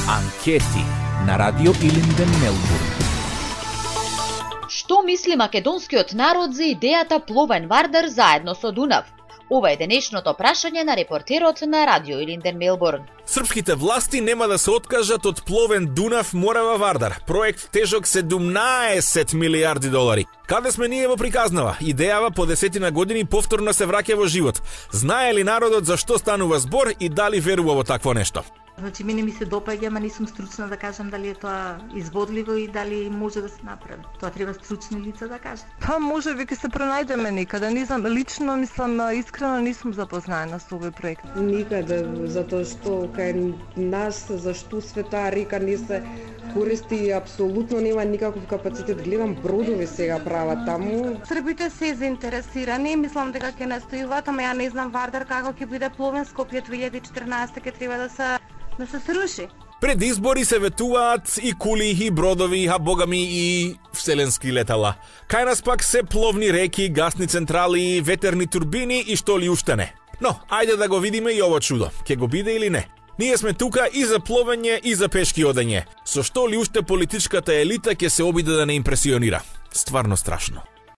Анкети на Радио Илинден Мелбурн. Што мисли македонскиот народ за идејата пловен Вардар заедно со Дунав? Ова е денешното прашање на репортерот на Радио Илинден Мелбурн. Српските власти нема да се откажат од пловен Дунав Морава Вардар, проект тежок 17 милиарди долари. Каде сме ние во приказнава? Идејава по 10 години повторно се враќа во живот. Знае ли народот за што станува збор и дали верува во такво нешто? Значи, мене ми се допаѓа, ама не сум стручна да кажам дали е тоа изводливо и дали може да се направи. Тоа треба стручни лица да кажат. Па може би ќе се пронајдеме некаде, не знам, лично мислам, искрено не сум запознаена со овој проект. Никаде, затоа што кај нас за што света река не се користи и апсолутно нема никаков капацитет. Гледам бродови сега прават таму. Србите се заинтересирани, мислам дека ќе настојуваат, ама ја не знам Вардар како ќе биде пловен. Скопје 2014 ќе треба да се сруши. Пред избори се ветуваат и кули, и бродови, а богами и вселенски летала. Кај нас пак се пловни реки, гасни централи, ветерни турбини и што ли уште не. Но, ајде да го видиме и ово чудо. Ке го биде или не? Ние сме тука и за пловење и за пешки одење. Со што ли уште политичката елита ќе се обиде да не импресионира? Стварно страшно.